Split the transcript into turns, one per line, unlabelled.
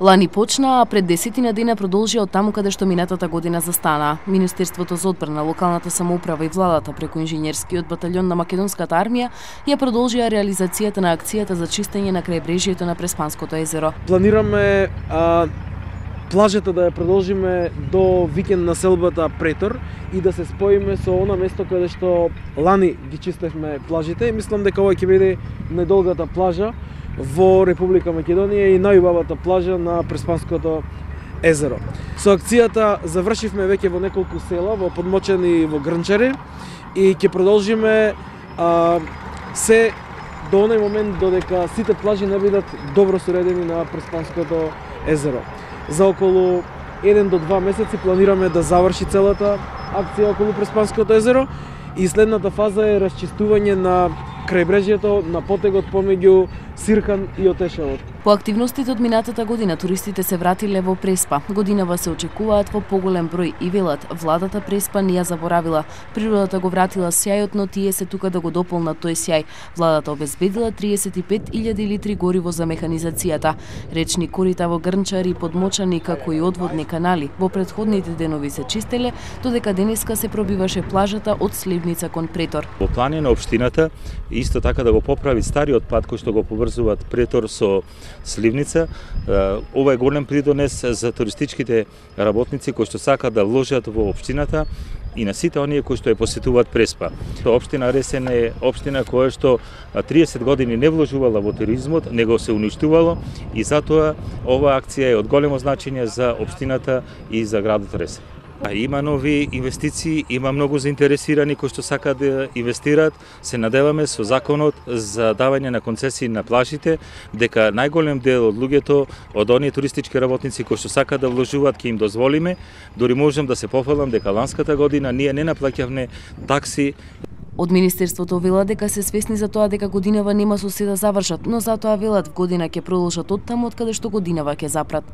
Лани почна, а пред 10 дена продолжи од таму каде што минатата година застана. Министерството за одбрана, локалната самоуправа и владата преку инженерскиот батальон на македонската армија ја продолжија реализацијата на акцијата за чистење на крајбрежјето на Преспанското езеро.
Планираме плажата да ја продолжиме до викенд населбата Претор и да се споиме со она место каде што лани ги чистевме плажите. Мислам дека ова ќе биде најдолгата плажа во Република Македонија и најубавата плажа на Преспанското езеро. Со акцијата завршивме веќе во неколку села, во Подмочани и во Грнчари, и ќе продолжиме се до оној момент додека сите плажи не бидат добро соредени на Преспанското езеро. За околу 1 до 2 месеци планираме да заврши целата акција околу Преспанското езеро и следната фаза е расчистување на крајбрежјето на потегот помеѓу Сиркан и Отешевот.
По активностите од минатата година туристите се вратиле во Преспа. Годинава се очекуваат во поголем број и велат владата Преспа не ја заборавила. Природата го вратила сјајот, но тие се тука да го дополнат тој сјај. Владата обезбедила 35.000 литри гориво за механизацијата. Речни корита во Грнчари и Подмочани, како и одводни канали, во претходните денови се чистеле, додека денеска се пробиваше плажата од Сливница кон Претор.
Во плане на општината исто така да го поправи стариот пат кој што го поврзуваат Претор со Сливница. Ова е голем придонес за туристичките работници кои што сакаат да вложат во општината и на сите оние кои што ја посетуваат Преспа. Општина Ресен е општина која што 30 години не вложувала во туризмот, него се уништувало и затоа оваа акција е од големо значење за општината и за градот Ресен. Има нови инвестиции, има многу заинтересирани кои што сакаат да инвестираат. Се надеваме со законот за давање на концесии на плажите, дека најголем дел од луѓето, од оние туристички работници кои што сакаат да вложуваат, ќе им дозволиме. Дори можам да се пофалам дека ланската година ние не наплаќавме такси.
Од Министерството велат дека се свесни за тоа дека годинава нема со се да завршат, но затоа велат в година ќе продолжат од таму од каде што годинава ќе запрат.